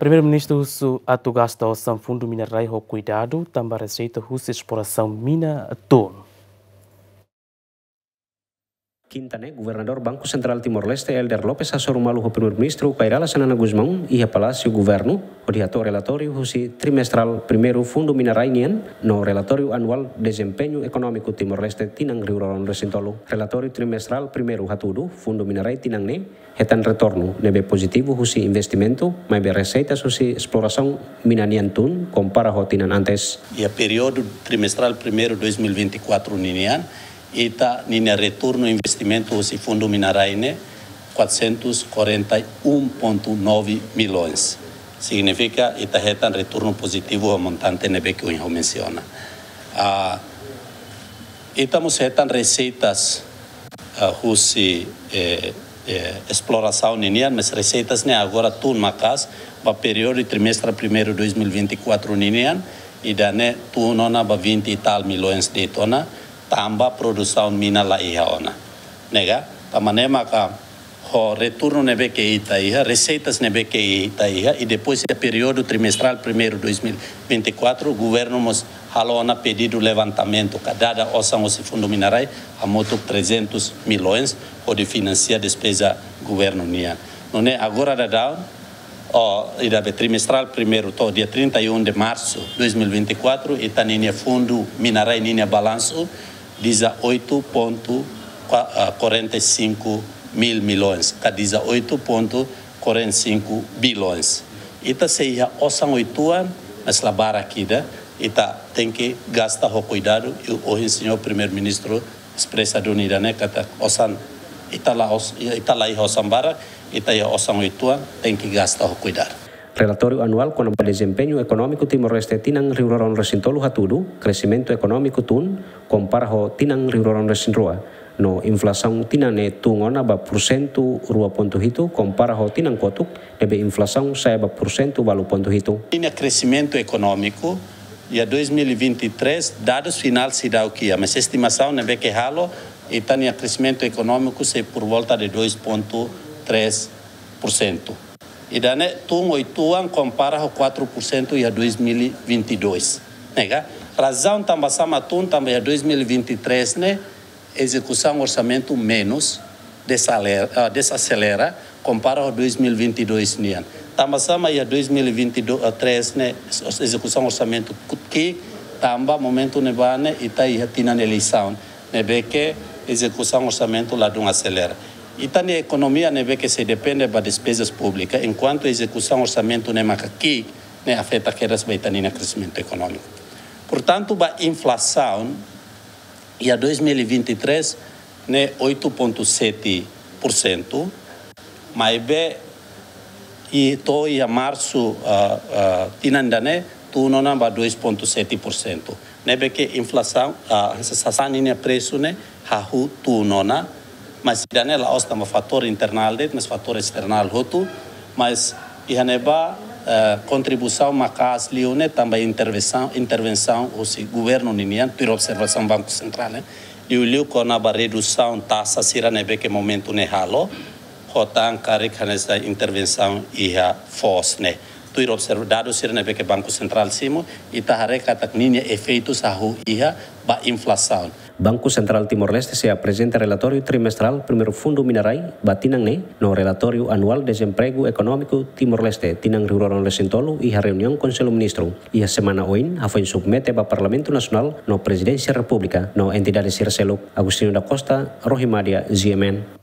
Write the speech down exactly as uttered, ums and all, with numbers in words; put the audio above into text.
Primeiru-Ministru husu atu gasta osan Fundu Mina Rai ho kuidadu, tanba reseita husi esplorasaun mina tun. Kinta ne'e, Governadór Banku Sentrál Timor-Leste, Helder Lopes, hasoru malu ho Primeiru-Ministru Kay Rala Xanana Gusmão iha Palásiu Governu, hodi hato'o relatóriu husi trimestrál primeiru Fundu Mina Rai nian, no relatóriu anuál dezempeñu ekonómiku Timor-Leste tinan rihun rua ruanulu resin tolu. Relatóriu trimestrál primeiru hatudu, Fundu Mina Rai tinan ne'e hetan retornu ne'ebé pozitivu husi investimentu, maibé reseitas husi esplorasaun mina nian tun, kompara ho tinan antes. Iha períodu trimestrál primeiru dois mil e vinte e quatro ninian, ita-nia retornu investimentu husi Fundu Mina Rai ne'e quatrocentos e quarenta e um ponto nove milhões. Signifika ita hetan retornu pozitivu ho montante ne'ebé ke ohin ha'u mensiona. Ah, ita mós hetan reseitas, ah, husi, eh, eh, esplorasaun ninian, mas reseitas ne'e agora tun maka'as, ba períodu trimestrál primeiru dois mil e vinte e quatro ninian, ida-ne'e tun ona ba vinte e tal milhões de'it ona, tanba produsaun mina la iha ona. Ne'e ka, tanba ne'e maka ho retornu ne'ebé ke ita iha, reseitas ne'ebé ke ita iha, i depois iha períodu trimestrál primeiru dois mil e vinte e quatro, governu mós halo ona pedidu levantamentu, ka dada osan husi Fundu Mina Rai, hamutuk trezentos milhões, hodi finansia despeza governu nian. Nune'e agora daudaun, ó, ida be trimestrál primeiru to'o dia trinta e um de março dois mil e vinte e quatro, ita-nia Fundu Mina Rai ninia balansu dezoito ponto quarenta e cinco mil milhões, ka dezoito ponto quarenta e cinco bilhões. Ita sei iha osan oituan, mas la barak ida, ita tenke gasta ho kuidadu, i ohin señór Primeiru-Ministru espresa duni ida-ne'e katak osan, ita la os-, ita la iha osan barak, ita iha osan oituan, tenke gasta ho kuidadu. Relatóriu anuál kona-ba dezempeñu ekonómiku Timor-Leste tinan rihun rua ruanulu resin tolu hatudu, kresimentu ekonómiku tun, kompara ho tinan rihun rua ruanulu resin rua. No inflasaun tinan ne'e tun ona ba pursentu rua pontu hitu, kompara ho tinan kotuk, ne'ebé inflasaun sa'e ba pursentu ualu pontu hitu. Ninia kresimentu ekonómiku, iha dois mil e vinte e três, dadus finál seidauk iha, mas estimasaun ne'ebé ke halo, ita-nia kresimentu ekonómiku sei por volta de dois ponto três por cento. Ida-ne'e tun oituan kompara ho quatro por cento iha dois mil e vinte e dois. Ne'e ka, razaun tanba sá mak tun, tanba iha dois mil e vinte e três ne'e ezekusaun orsamentu menus, desaler-, ah, desaselera, kompara ho dois mil e vinte e dois nian. Tanba sá mak iha dois mil e vinte e três ne'e, os-, ezekusaun orsamentu kut-, ki'ik, tanba momentu ne'ebá ne'e ita iha tinan eleisaun, ne'ebé ke ezekusaun orsamentu ladún aselera. Ita-nia ekonomia ne'ebé ke sei depende ba despezas públikas, enkuantu ezekusaun orsamentu ne'e maka ki'ik, ne'e afeta kedas ba ita-nia kresimentu ekonómiku. Portantu, ba inflasaun, iha dois mil e vinte e três ne'e oito ponto sete por cento, maibé to'o iha marsu, ah, ah, tinan ida-ne'e tun ona ba dois ponto sete por cento. Ne'ebé ke inflasaun, ah, sasán ninia presu ne'e hahú tun ona, mas ida-ne'e la'ós tanba fatór internál de'it, mas fatór esternál hotu, mas iha ne'ebá, eh, kontribuisaun maka'as liu ne'e tanba intervensaun, intervensaun husi governu ninian, tuir observasaun Banku Sentrál, eh, liuliu kona-ba redusaun taxa sira ne'ebé ke momentu ne'e halo, ho tan karik hanesan intervensaun iha foos ne'e. Tuir observa dadus sira ne'ebé ke Banku Sentrál simu, ita haree katak ninia efeitus hahú iha ba inflasaun. Banku Sentrál Timor-Leste sei aprezenta relatóriu trimestrál primeiru Fundu Mina Rai ba tinan ne'e, no relatóriu anuál dezempregu ekonómiku Timor-Leste tinan rihun rua ruanulu resin tolu iha reuniaun Konsellu Ministru iha semana oin, hafoin submete ba Parlamentu Nasionál no Prezidénsia Repúblika no entidade sira seluk. Agostinho da Costa, Rohimadia, G M N.